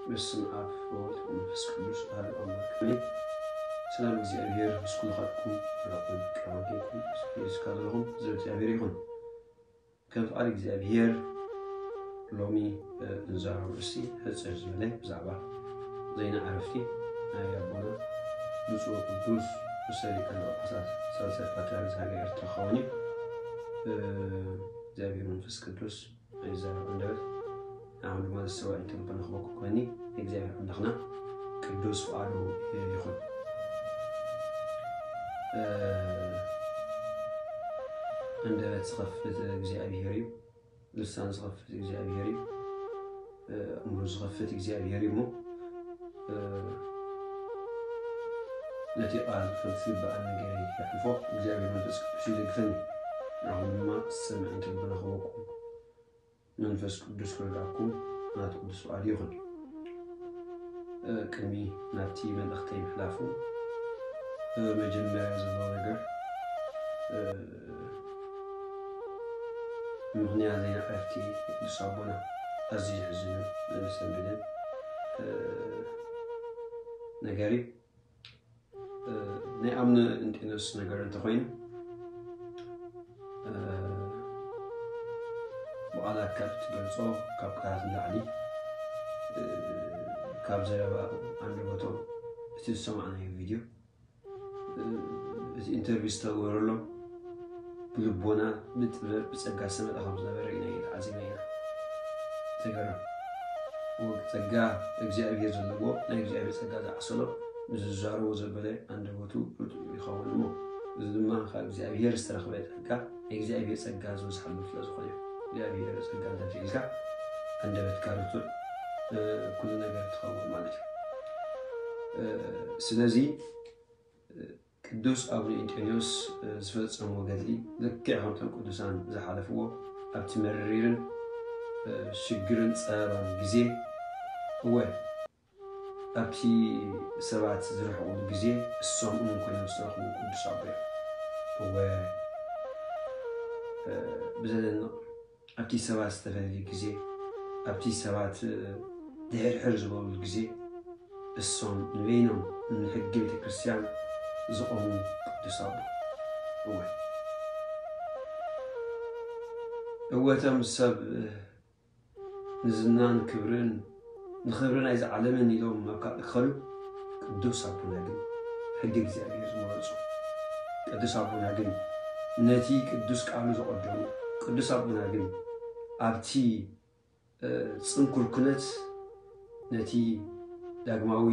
በስመ አብ ወወልድ ወመንፈስ ቅዱስ አሐዱ አምላክ አሜን። ሰላም እግዚኣብሔር ምስ ኩልኻትኩም ረኹም ቀባጌኩም ስፔስ ካለኹም ዘብ እግዚኣብሔር ይኹን። ከም ፍቓድ እግዚኣብሔር ሎሚ እንዛረብ ርእሲ ሕፅር ዝበለ ብዛዕባ ዜና ዕረፍቲ ናይ ኣቦና ብፁዕ ቅዱስ ርእሰ ሊቃነ ጳጳሳት ሳልሳይ ፓትርያርክ ሃገረ ኤርትራ ክኸውን እዩ። እግዚኣብሔር መንፈስ ቅዱስ ኣይዛረብ ኣንደበት ንዓኹም ድማ ዘስተውዕል ልቦና ክህበኩም ክመኒ። እግዚኣብሔር ኣምላኽና ቅዱስ ፍቓዱ ይኹን። ኣንደበት ዝኸፍት እግዚኣብሔር እዩ። ልሳን ዝኸፍት እግዚኣብሔር እዩ። ኣእምሮ ዝኸፍት እግዚኣብሔር እዩ እሞ ነቲ ቃል ከም ዝግባእ ነገር የሕልፎ። እግዚኣብሔር መንፈስ ቅዱስ ይደግፈኒ። ንዓኹም ድማ ዝሰምዕ ልቦና ክህበኩም መንፈስ ቅዱስ ክረድኣኩም ናቱ ቅዱስ ፍቓድ ይኹን። ቅድሚ ናብቲ መልእኽተይ ምሕላፉ መጀመርያ ዘሎ ነገር ምኽንያት ዜና ዕረፍቲ ቅዱስ ኣቦና ኣዝዩ ዘሕዝንን ዘሰንብድን ነገር እዩ። ናይ ኣምነ እንጢኖስ ነገር እንተኾይኑ ብቓላት ካብ ትገልጾ ካብ ቃላት ንላዕሊ ካብ ዘረባ ኣንደበቶም እቲ ዝሰማዕናዮ ቪድዮ እቲ ኢንተርቪው ዝተገበረሎም ብልቦና ብጥበብ ብጸጋ ዝተመልአ ከም ዝነበረ ኢና ተዓዚብና ኢና። ተገረም ጸጋ እግዚኣብሔር ዘለዎ ናይ እግዚኣብሔር ጸጋ ዝዓሰሎ ንዝዛረቦ ዘበለ ኣንደበቱ ርቱዕ ይኸውን እሞ እዚ ድማ ካብ እግዚኣብሔር ዝተረኽበ ጸጋ ናይ እግዚኣብሔር ጸጋ ዝበዝሓሉ ስለ ዝኾነ እግዚኣብሔር ጸጋ እንተልዒልካ ኣንደበትካ ርቱዕ ኩሉ ነገር ትኸውን ማለት እዩ። ስለዚ ቅዱስ ኣቡነ እንጦንዮስ ዝፈጸሞ ገድሊ ልክዕ ከምቶም ቅዱሳን ዝሓለፍዎ ኣብቲ መሪርን ሽግርን ጸበባን ግዜ እወ ኣብቲ ሰባት ዝርሕቑሉ ግዜ እሶም እውን ኮይኖም ዝተረኽቡ ቅዱስ ኣቦ እዮም። እወ ብዘደንቕ ኣብቲ ሰባት ዝተፈለዩ ግዜ ኣብቲ ሰባት ድሕርሕር ዝበሉ ግዜ እሶም ንበይኖም ንሕጊ ቤተ ክርስቲያን ዝቆሙ ቅዱስ ኣቦ እወ እወቶም ሰብ ንዝናን ክብርን ንኽብሪ ናይዚ ዓለምን ኢሎም ኣብ ካልእ ክኸዱ ቅዱስ ኣቦና ግን ሕጊ እግዚኣብሔር ዝመረጹ ቅዱስ ኣቦና ግን ነቲ ቅዱስ ቃሉ ዘቐደሙ ቅዱስ ኣቦና ግን ኣብቲ ጽንኩር ኩነት ነቲ ዳግማዊ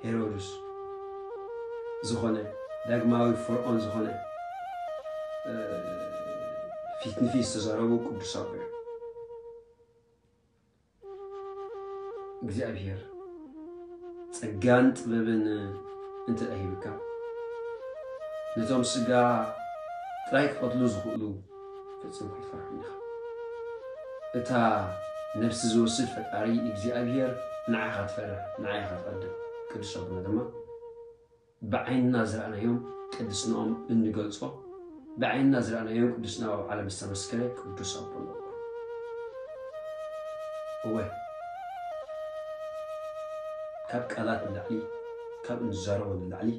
ሄሮድስ ዝኾነ ዳግማዊ ፈርዖን ዝኾነ ፊት ንፊት ዝተዛረቡ ቅዱስ ኣቦ እዮም። እግዚኣብሔር ጸጋን ጥበብን እንተ ሂብካ ነቶም ስጋ ጥራይ ክቐትሉ ዝኽእሉ ፈጺምካ ኣይትፈርሖም ኢኻ። እታ ነፍሲ ዝወስድ ፈጣሪ እግዚኣብሔር ንዓኻ ትፈርሕ፣ ንዓ ኢኻ ትቐድም። ቅዱስ ኣቦና ድማ ብዓይንና ዝረኣናዮም ቅድስናኦም እንገልጾ፣ ብዓይንና ዝረኣናዮም ቅድስናኦም ኣብ ዓለም ዝተመስከረ ቅዱስ ኣቦ ኣለዎ። እወ፣ ካብ ቃላት ንላዕሊ፣ ካብ እንዛረቦ ንላዕሊ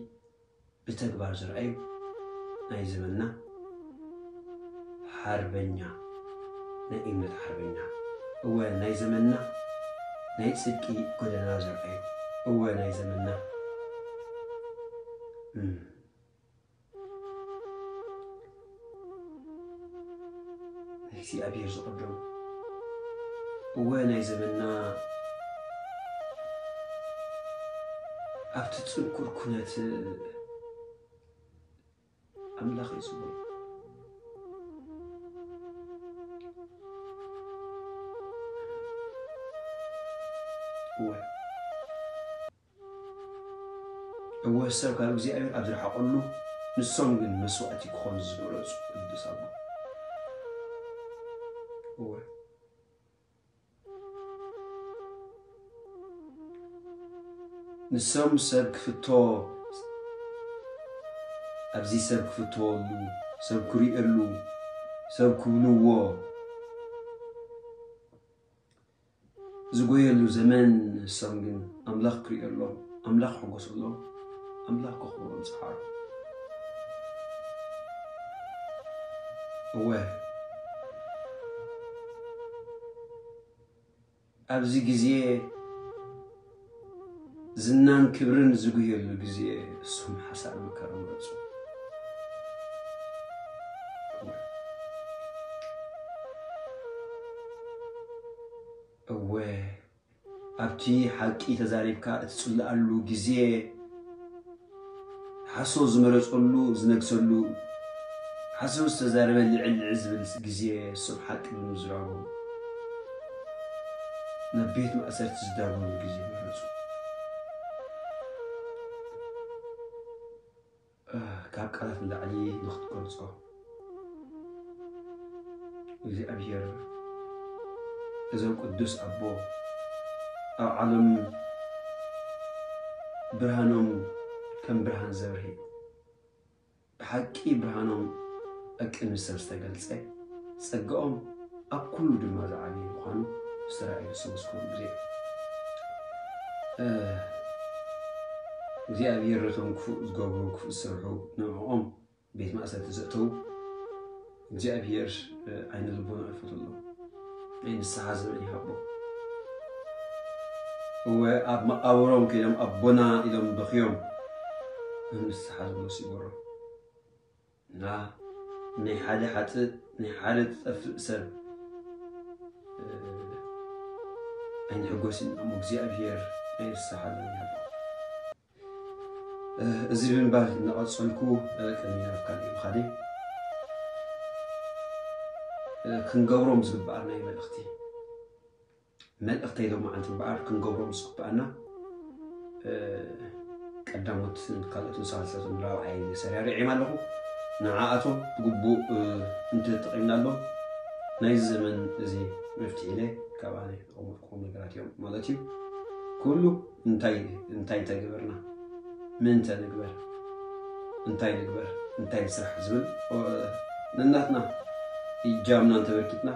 ብተግባር ዝረኣዩ ናይ ዘመንና ሓርበኛ ናይ እምነት ሓርበኛ እወ ናይ ዘመንና ናይ ጽድቂ ጎደና ዘርኣዩ እወ ናይ ዘመንና እም፣ ናይ እግዚኣብሔር ዝቐደሙ እወ ናይ ዘመንና ኣብቲ ጽንኩር ኩነት ኣምላኽ እዩ ዝብሎ። እወ እወ ሰብ ካብ እግዚኣብሔር ኣብ ዝረሓቐሉ ንሶም ግን መስዋእቲ ክኾኑ ዝመረጹ ቅዱስ ኣቦ እወ ንሶም ሰብ ክፍቶ ኣብዚ ሰብ ክፍተወሉ ሰብ ክሪኤሉ ሰብ ክብልዎ ዝጎየሉ ዘመን፣ ንሶም ግን ኣምላኽ ክርእየሎም፣ ኣምላኽ ክሕጎሰሎም፣ ኣምላኽ ከኽብሮም ጸዓሩ። እወ፣ ኣብዚ ግዜ ዝናን ክብርን ዝጉየሉ ግዜ፣ እሶም ሓሳር መከራ መረጹ። እወ፣ ኣብቲ ሓቂ ተዛሪብካ እትጽልኣሉ ግዜ፣ ሓሶት ዝመረጸሉ ዝነግሰሉ፣ ሓሶት ዝተዛረበ ልዕል ልዕል ዝብል ግዜ፣ እሶም ሓቂ ብምዝራቦም ናብ ቤት ማእሰርቲ ዝዳጎኑ ግዜ መረጹ። ካብ ቃላት ንላዕሊ ንኽትገልጾ እግዚኣብሔር እዞም ቅዱስ ኣቦ ኣብ ዓለም ብርሃኖም ከም ብርሃን ዘብርህ፣ ብሓቂ ብርሃኖም ኣብ ቅድሚ ሰብ ዝተገልጸ፣ ጸጋኦም ኣብ ኩሉ ድማ ዝዓበየ ምዃኑ ዝተራእየ ዝሰበስክሩ ግዜ፣ እግዚኣብሔር ነቶም ክፉእ ዝገብሩ፣ ክፉእ ዝሰርሑ ንዕኦም ቤት ማእሰርቲ ዘእተዉ እግዚኣብሔር ዓይነ ልቦና ይፈተሎም፣ ናይ ንስሓ ዘመን ይሃቦም። እወ፣ ኣብ መቓብሮም ከይዶም ኣቦና ኢሎም በኽዮም ንስሓ ዝመልሱ ይበሮም። እና ናይ ሓደ ሓጥእ፣ ናይ ሓደ ዝጠፍእ ሰብ ኣይንሕጎስን እሞ እግዚኣብሔር ናይ ንስሓ ዘመን ይሃቦም። እዚ ብምባል እናቐጸልኩ ቅድሚ ናብ ካልእ ምኻደይ ክንገብሮም ዝግብኣና እዩ መልእኽቲ። መልእኽተይ ሎማዓንቲ እምበኣር ክንገብሮም ዝግብኣና ቀዳሞትን ካልኦትን ሳልሳትን ራብዓይ ሰሪዐ ኣለኹ። ንዓኣቶም ብግቡእ እንተተጠቒምናሎም ናይዚ ዘመን እዚ መፍትሒ ኢለ ካብ ኣነ ዘቐመጥኩዎም ነገራት እዮም ማለት እዩ። ኩሉ እንታይ እንታይ እንተገበርና፣ ምእንተ ንግበር፣ እንታይ ንግበር፣ እንታይ ንስራሕ ዝብል ነናትና እጃምና እንተበርኪትና፣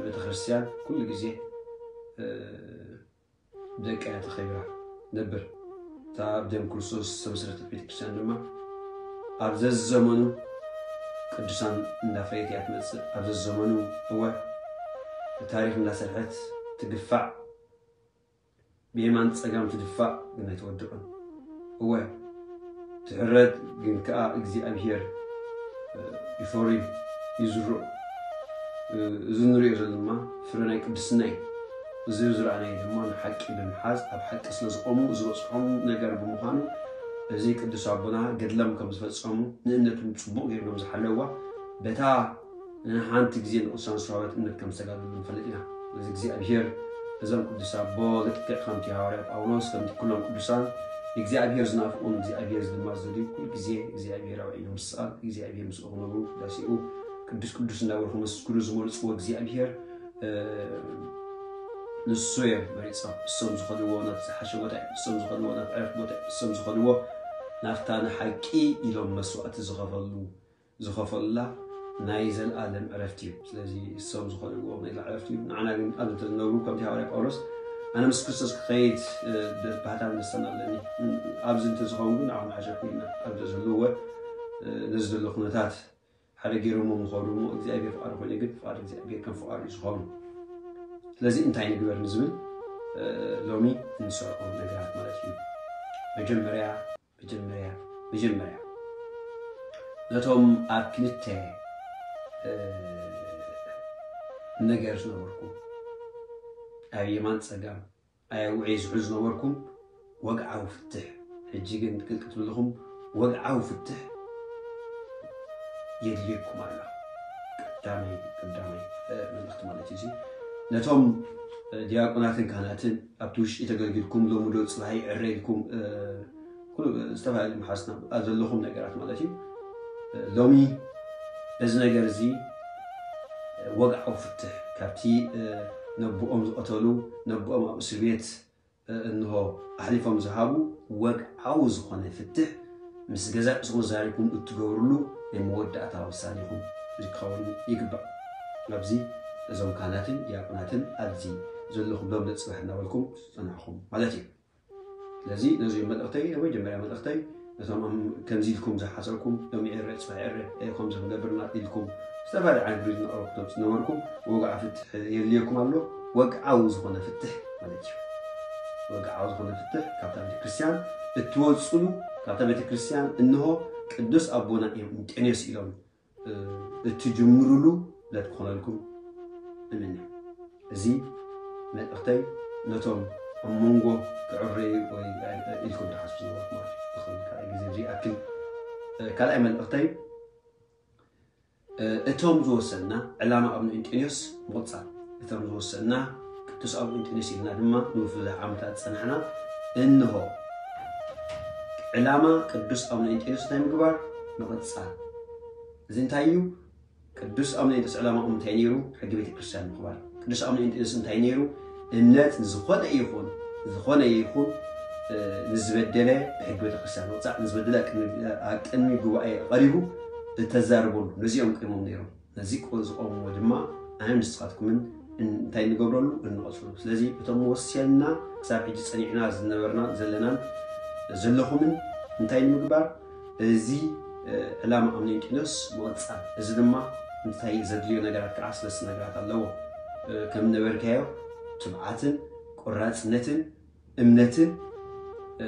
ቤተ ክርስቲያን ኩሉ ግዜ ብደቃ እያ ተኸቢራ ነብር። እታ ብደም ክርስቶስ ዝተመስረተት ቤተ ክርስቲያን ድማ ኣብ ዘዘመኑ ቅዱሳን እንዳፍረየት እያ ትመጽእ። ኣብ ዘዘመኑ እወ ታሪኽ እንዳሰርሐት ትግፋዕ፣ ብየማን ጸጋም ትድፋእ ግን ኣይትወድቕን። እወ ትሕረድ ግን ከኣ እግዚኣብሔር ይፈሪ ይዝርኦ። እዚ ንሪኦ ዘለና ድማ ፍረ ናይ ቅድስና እዩ። እዚ ዝረኣናዮ ድማ ንሓቂ ብምሓዝ ኣብ ሓቂ ስለ ዝቖሙ ዝበጽሖም ነገር ብምዃኑ፣ እዚ ቅዱስ ኣቦና ገድሎም ከም ዝፈጸሙ ንእምነቶም ጽቡቕ ገይሮም ዝሓለዋ በታ ንሓንቲ ግዜ ንቅዱሳን ዝሃበት እምነት ከም ዝተጋደሉ ንፈልጥ ኢና። ስለዚ እግዚኣብሔር እዞም ቅዱስ ኣቦ ልክዕ ከምቲ ሃዋርያ ጳውሎስ ከምቲ ኩሎም ቅዱሳን እግዚኣብሔር ዝናፍቁን እግዚኣብሔር ድማ ዝደልዩ ኩሉ ግዜ እግዚኣብሔር ኣብ ዓይኖም ዝሰኣል እግዚኣብሔር ምስኡ ክነብሩ ቅዳሴኡ ቅዱስ ቅዱስ እንዳበሉ ከመስግኑ ዝመርፅዎ እግዚኣብሔር ንሱ እዮም መሪፆም። እሶም ዝኸድዎ ናብ ዝሓሸ ቦታ እዩ። እሶም ዝኸድዎ ናብ ዕረፍቲ ቦታ እዩ። እሶም ዝኸድዎ ናብታ ንሓቂ ኢሎም መስዋእቲ ዝኸፈሉ ዝኸፈሉላ ናይ ዘለኣለም ዕረፍቲ እዩ። ስለዚ እሶም ዝኸድዎ ናይ ዘለኣለም ዕረፍቲ እዩ። ንዓና ግን ኣብዚ እንተዝነብሩ ከምቲ ሃዋርያ ጳውሎስ ኣነ ምስ ክርስቶስ ክኸይድ ባህታን ደስታን ኣለኒ። ኣብዚ እንተዝኸውን ግን ንዓኹም ሓሸኩ ኢልና ኣብዚ ዘለዎ ነዚ ዘሎ ኩነታት ሓደ ገይሮሞ ምኸዱ እሞ እግዚኣብሔር ፍቓዱ ኮይኑ ግን ፍቓድ እግዚኣብሔር ከም ፍቓዱ እዩ ዝኾኑ። ስለዚ እንታይ ንግበር ንዝብል ሎሚ እንሰርዖም ነገራት ማለት እዩ። መጀመርያ መጀመርያ መጀመርያ ነቶም ኣብ ክልተ ነገር ዝነበርኩ ኣብ የማን ጸጋም ኣያውዒ ዝሑ ዝነበርኩም ወግዓዊ ፍትሕ ሕጂ ግን ቅልቅት ብልኹም ወግዓዊ ፍትሕ የድልየኩም ኣሎ። ቀዳመይ ቀዳመይ መልእኽቲ ማለት እዩ። ነቶም ዲያቆናትን ካህናትን ኣብቲ ውሽጢ ተገልጊልኩም ሎሚ ዶ ፅባሕ ይዕረ ኢልኩም ዝተፈላለዩ መሓዝና ኣብ ዘለኹም ነገራት ማለት እዩ። ሎሚ በዚ ነገር እዚ ወግዓዊ ፍትሕ ካብቲ ነቦኦም ዝቐተሉ ነቦኦም ኣብ እስር ቤት እንሆ ኣሕሊፎም ዝሃቡ ወግዓዊ ዝኾነ ፍትሕ ምስ ገዛእ ርእስኹም ዛሪብኩም እትገብርሉ ናይ መወዳእታ ውሳኔኹም ዝከውን ይግባእ። ኣብዚ እዞም ካህናትን ዲያቆናትን ኣብዚ ዘለኹም ሎም ንጽባሕ እናበልኩም ዝጸናሕኹም ማለት እዩ። ስለዚ ነዚኦም መልእኽተይ፣ ኣብ መጀመርያ መልእኽተይ ነቶም ኣም-፣ ከምዚ ኢልኩም ዝሓሰብኩም፣ ሎም ይዕረ፣ ጽባሕ ይዕረ፣ እ፣ ከምዚ ክንገብርና ኢልኩም ዝተፈላለዩ ዓይነት ሪዝን ኣቕረብኩም ዝነበርኩም፣ ወግዓዊ ፍትሕ የድልየኩም ኣሎ። ወግዓዊ ዝኾነ ፍትሕ ማለት እዩ። ወግዓዊ ዝኾነ ፍትሕ ካብታ ቤተክርስትያን እትወጽሉ፣ ካብታ ቤተክርስትያን እንሆ ቅዱስ ኣቦና እዮም እንጠንዮስ ኢሎም፣ እ፣ እትጅምሩሉ ዕለት ክኾነልኩም እምነ። እዚ መልእኽተይ ነቶም ኣብ መንጎ ክዕረዩ ወይ ኢልኩም ትሓስቡ ዝነበርኩም ማለት እዩ። እኹም ካልኣይ ግዜ እዚ ይኣክል። እ፣ ካልኣይ መልእኽተይ፣ እ፣ እቶም ዝወሰንና ዕላማ ኣቡነ እንጢንዮስ ምቕጻል፣ እቶም ዝወሰንና ቅዱስ ኣቡነ እንጢንዮስ ኢልና ድማ ንብዙሕ ዓመታት ዝጸናሕና፣ እንሆ ዕላማ ቅዱስ ኣቡነ እንጢንዮስ እንታይ ምግባር? ምቕጻል። እዚ እንታይ እዩ? ቅዱስ ኣቡነ እንጢንዮስ ዕላማኦም እንታይ ነይሩ? ሕጊ ቤተክርስትያን ምኽባር። ቅዱስ ኣቡነ እንጢንዮስ እንታይ ነይሩ? እምነት ንዝኾነ ይኹን፣ ዝኾነ ይኹን፣ እ፣ ንዝበደለ ብሕጊ ቤተክርስትያን ምቕጻዕ፣ ንዝበደለ ኣብ ቅድሚ፣ ኣብ ቅድሚ ጉባኤ ቀሪቡ እተዛርበሉ፣ ነዚኦም ቆይሞም ነይሮም። ነዚ ቆ-፣ ዝቆምዎ ድማ ኣነ ንስኻትኩምን እን-፣ እንታይ ንገብረሉ? እንቐጽሉ። ስለዚ እቶም ወስያንና ክሳብ ሕጂ ጸኒዕና ዝነበርና ዘለናን ዘለኹምን እንታይ ንምግባር? እዚ፣ እ፣ ዕላማ ኣቡነ እንጢንዮስ ምቕጻል። እዚ ድማ እንታይ ዘድልዮ ነገራት ከዓ ሰለስተ ነገራት ኣለዎ። እ፣ ከም ነበርካዮ ትብዓትን ቆራጽነትን እምነትን፣ እ፣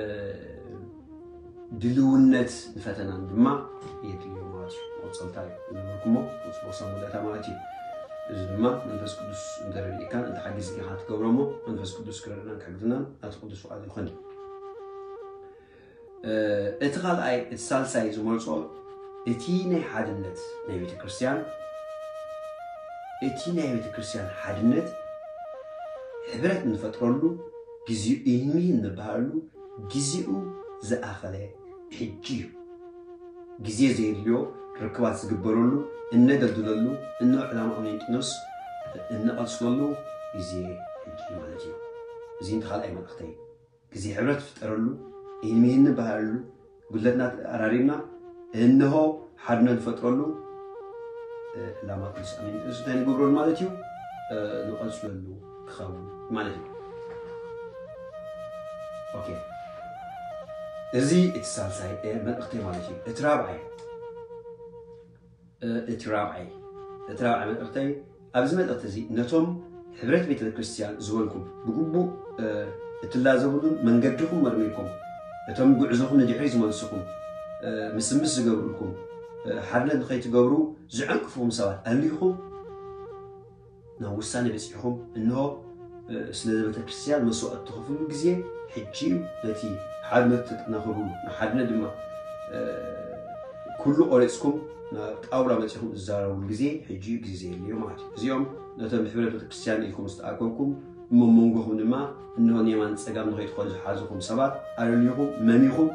ድልውነት ንፈተናን ድማ የድልዮ ማለት እዩ። መቐጸልታ እዩ ዝነበርኩሞ፣ ጽቡቕ ሰንበደታ ማለት እዩ። እዚ ድማ መንፈስ ቅዱስ እንተረዲእካን እንተሓጊዝካን ኢኻ ትገብሮ እሞ፣ መንፈስ ቅዱስ ክረድእናን ክሕግዝናን ናቲ ቅዱስ ፍቓድ ይኹን። እ፣ እቲ ካልኣይ፣ እቲ ሳልሳይ ዝመርጾ፣ እቲ ናይ ሓድነት ናይ ቤተ ክርስቲያን፣ እቲ ናይ ቤተ ክርስቲያን ሓድነት ሕብረት እንፈጥረሉ፣ ግዜኡ ኢህሚ እንበሃለሉ፣ ግዜኡ ዝኣኸለ ሕጂ እዩ። ግዜ ዘየድልዮ ርክባት ዝግበረሉ፣ እነደልድለሉ፣ እነ ዕላማ ኣቡነ እንጢኖስ እንቐጽለሉ ግዜ ሕጂ ማለት እዩ። እዚ እንተ ካልኣይ መልእኽተይ። ግዜ ሕብረት ፍጠረሉ፣ ኢህሚ እንበሃለሉ፣ ጉድለትና ኣራሪምና፣ እንሆ ሓድነት ንፈጥረሉ፣ እ፣ ዕላማ ቅዱስ ኣቡነ እንጢኖስ እንታይ ንገብረሉ ማለት እዩ? እ፣ ንቐጽለሉ ክኸውን ማለት እዩ። ኦኬ። እዚ እቲ ሳልሳይ፣ እ፣ መልእኽተይ ማለት እዩ። እቲ ራብዓይ፣ እ፣ እቲ ራብዓይ፣ እቲ ራብዓይ መልእኽተይ፣ ኣብዚ መልእኽቲ እዚ ነቶም ሕብረት ቤተ ክርስቲያን ዝበልኩም ብግቡእ፣ እ፣ እትላዘብሉን መንገድኹም መርሚርኩም፣ እቶም ጉዕዞኹም ንድሕሪት ዝመልስኹም፣ እ፣ ምስምስ ዝገብሩልኩም፣ እ፣ ሓድነት ንኸይትገብሩ ዝዕንቅፉኹም ሰባት ኣሊኹም ናብ ውሳኔ በጺሕኹም፣ እንሆ፣ እ፣ ስለ ቤተ ክርስቲያን መስዋእቲ ትኸፍሉ ግዜ ሕጂ እዩ። ነቲ ሓድነት ተጠናኽሩሉ፣ ንሓድነት ድማ፣ እ፣ ኩሉ ቆሪጽኩም ናብ ጣውላ መጺኹም ዝዛረብሉ ግዜ ሕጂ እዩ፣ ግዜ ዘየድልዮ ማለት እዩ። እዚኦም ነቶም ብሕብረት ቤተ ክርስቲያን ኢልኩም ዝተኣከብኩም፣ እሞ መንጎኹም ድማ እንሆ ንየማን ጸጋም ንኸይትኸዱ ዝሓዙኹም ሰባት ኣለልዩኹም፣ መሚኹም፣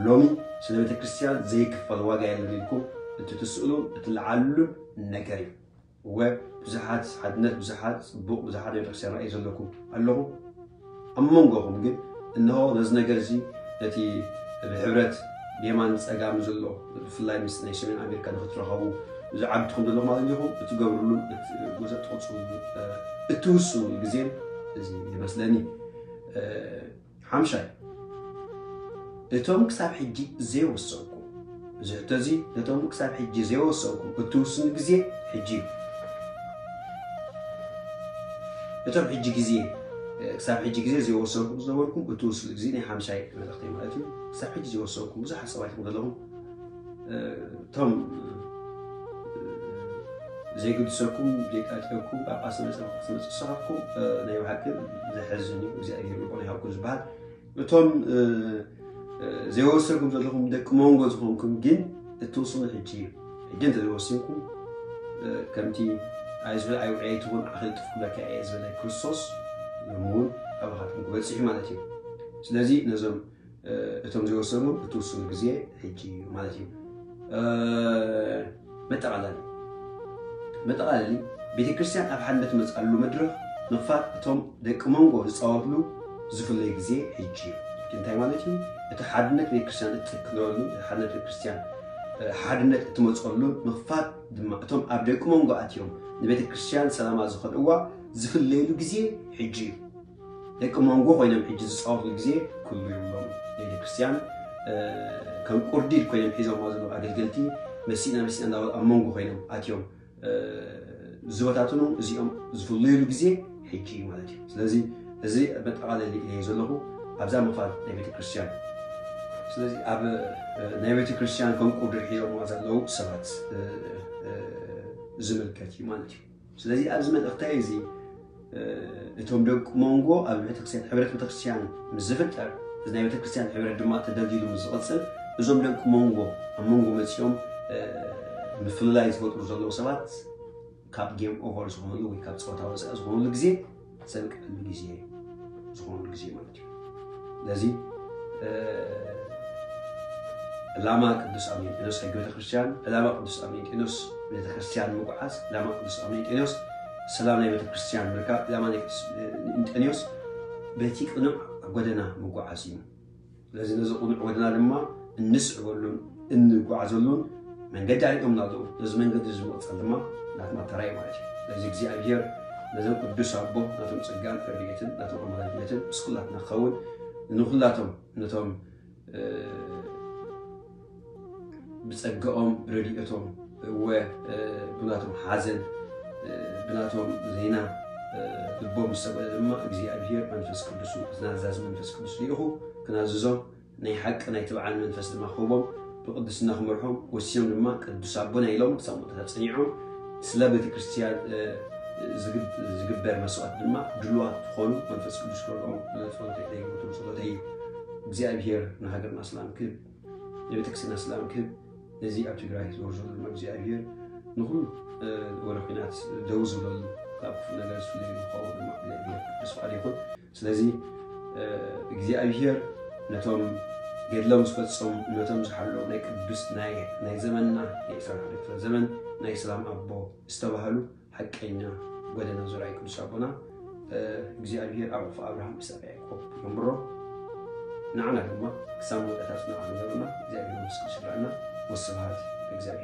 ሎሚ ስለ ቤተ ክርስቲያን ዘይክፈል ዋጋ የለን ኢልኩም እትትስእሉን እትለዓልሉን ነገር እዩ። እወ፣ ብዙሓት ሓድነት፣ ብዙሓት ጽቡቕ፣ ብዙሓት ቤተክርስትያን ራእይ ዘለኩም ኣለኹም። ኣብ መንጎኹም ግን፣ እንሆ ነዚ ነገር እዚ፣ ነቲ ብሕብረት ብየማን ጸጋም ዘሎ፣ ብፍላይ ምስ ናይ ሰሜን ኣሜሪካ ንክትረኸቡ፣ ዝዓግትኹም ዘለኹም ኣለኹም፣ እትገብርሉን እት-፣ እትቕጽሉሉን፣ እ፣ እትውስኑሉ ግዜን እዚ ይመስለኒ። እ፣ ሓምሻይ፣ እቶም ክሳብ ሕጂ ዘይወሰንኩም፣ እዚ ሕቶ እዚ፣ ነቶም ክሳብ ሕጂ ዘይወሰንኩም እትውስኑ ግዜ ሕጂ እዩ። እቶም ሕጂ ግዜ፣ ክሳብ ሕጂ ግዜ ዘይወሰንኩም ዝነበርኩም እትውስኑ ግዜ ናይ ሓምሻይ መልእኽተይ ማለት እዩ። ክሳብ ሕጂ ዘይወሰንኩም ብዙሓት ሰባት ኢኹም ዘለኹም። እቶም ዘይግድሰኩም፣ ዘይቃጨኩም፣ ጳጳስ መጸ፣ ጳጳስ መጸ ዝሰኻፍኩም፣ ናይ ብሓቂ ዘሕዝን እዩ። እግዚኣብሔር ልቦና ይሃብኩም ዝበሃል። እቶም፣ እ፣ እ፣ ዘይወሰንኩም ዘለኹም ደቂ መንጎ ዝኾንኩም ግን እትውስኑ ሕጂ እዩ። ሕጂ እንተ ዘይወሲንኩም፣ እ፣ ከምቲ ኣይዝበል ኣይውዕይ ትኹን ኣኺል ጥፍ ክብለካ እየ ዝበለ ክርስቶስ፣ ሎሚ እውን ኣባኻትኩም ክበጽሕ እዩ ማለት እዩ። ስለዚ ነዞም፣ እ፣ እቶም ዘይወሰኑ እትውስኑ ግዜ ሕጂ እዩ ማለት እዩ። እ፣ መጠቓለሊ። መጠቓለሊ፣ ቤተ ክርስቲያን ኣብ ሓድነት መጽኣሉ መድረኽ ምኽፋት እቶም ደቂ መንጎ ዝጻወትሉ ዝፍለይ ግዜ ሕጂ እዩ። እቲ እንታይ ማለት እዩ? እቲ ሓድነት ቤተ ክርስቲያን እትትክለሉ፣ እቲ ሓድነት ቤተ ክርስቲያን፣ እ፣ ሓድነት እትመጽኣሉ ምኽፋት ድማ እቶም ኣብ ደቂ መንጎ ኣትዮም ንቤተ ክርስቲያን ሰላማ ዝኸልእዋ ዝፍለየሉ ግዜ ሕጂ እዩ። ደቂ መንጎ ኮይኖም ሕጂ ዝፃወትሉ ግዜ ክህሉ የብሎም። ናይ ቤተክርስትያን ከም ቁርዲድ ኮይኖም ሒዞም ዘለዉ ኣገልገልቲ መሲና መሲና እንዳበሉ ኣብ መንጎ ኮይኖም ኣትዮም ዝበታትኑ እዚኦም ዝፍለዩሉ ግዜ ሕጂ እዩ ማለት እዩ። ስለዚ እዚ መጠቓለሊ እየ ዘለኹ ኣብዛ ምፋል ናይ ቤተክርስትያን። ስለዚ ኣብ ናይ ቤተክርስትያን ከም ቁርዲድ ሒዞምዋ ዘለዉ ሰባት ዝምልከት እዩ ማለት እዩ። ስለዚ ኣብዚ መልእኽተይ እዚ እቶም ደቂ መንጎ ኣብ ቤተክርስትያን፣ ሕብረት ቤተክርስትያን ምስ ዝፍጠር፣ እዚ ናይ ቤተክርስትያን ሕብረት ድማ ተደልዲሉ ምስ ዝቕፅል፣ እዞም ደቂ መንጎ ኣብ መንጎ መፂኦም ምፍልላይ ዝፈጥሩ ዘለዉ ሰባት ካብ ጌም ኦቨር ዝኾኑሉ ወይ ካብ ፀወታ ወፃኢ ዝኾኑሉ ግዜ ዘብቅዐሉ ግዜ ዝኾኑሉ ግዜ ማለት እዩ። ስለዚ ዕላማ ቅዱስ ኣሜንጤኖስ ሕጊ ቤተክርስትያን፣ ዕላማ ቅዱስ ኣሜንጤኖስ ቤተክርስትያን ምጉዓዝ፣ ዕላማ ቅዱስ ኣሜንጤኖስ ሰላም ናይ ቤተክርስትያን ምርካብ፣ ዕላማ ናይ ቅዱስ እንጠንዮስ በቲ ቅኑዕ ጎደና ምጉዓዝ እዩ። ስለዚ ነዚ ቅኑዕ ጎደና ድማ እንስዕበሉን እንጓዓዘሉን መንገዲ ኣርእዮም ኣለዉ። ነዚ መንገዲ እዚ ምቕጻል ድማ ናትና ተራ እዩ ማለት እዩ። ስለዚ እግዚኣብሔር ነዞም ቅዱስ ኣቦ ናቶም ጸጋን ረድኤትን ናቶም ኣማላጅነትን ምስ ኩላትና ክኸውን ንኹላቶም ነቶም ብጸጋኦም ብረድኤቶም እወ ብናቶም ሓዘን ብናቶም ዜና ልቦም ዝሰብረ ድማ እግዚኣብሔር መንፈስ ቅዱስ ናዛዚ መንፈስ ቅዱስ ልኢኹ ክናዝዞም ናይ ሓቂ ናይ ትብዓን መንፈስ ድማ ክህቦም ብቅድስና ክመርሖም ወሲኖም ድማ ቅዱስ ኣቦና ኢሎም ክሳብ መወዳእታ ጸኒዖም ስለ ቤተክርስትያን ዝግበር መስዋዕት ድማ ድሉዋት ዝኾኑ መንፈስ ቅዱስ ክረድኦም ጸሎተይ ደይግብቱም ጸሎተይ እዩ። እግዚኣብሔር ንሃገርና ሰላም ክህብ ንቤተክርስትያንና ሰላም ክህብ ነዚ ኣብ ትግራይ ዝወርዶ ድማ እግዚኣብሔር ንኩሉ ወረ ኩናት ደው ዝብለሉ ካብ ክፉእ ነገር ዝፍለዩ ንኸውን ድማ እግዚኣብሔር ቅዱስ ፍቃድ ይኹን። ስለዚ እግዚኣብሔር ነቶም ገድሎም ዝፈጸሙ ነቶም ዝሓለዉ ናይ ቅዱስ ናይ ዘመንና ናይ ዕስራን ሓደ ክፍለ ዘመን ናይ ሰላም ኣቦ ዝተባህሉ ሓቀኛ ጎደና ዝረኣዩ ቅዱስ ኣቦና እግዚኣብሔር ኣብ ዕፉ ኣብርሃም ኢሳቅ ያዕቆብ የንብሮ። ንዓና ድማ ክሳብ መወዳእታ ጽንዓት ንገብርና እግዚኣብሔር ምስ ቅዱስ ይርኣና። ወስብሃት እግዚኣብሔር።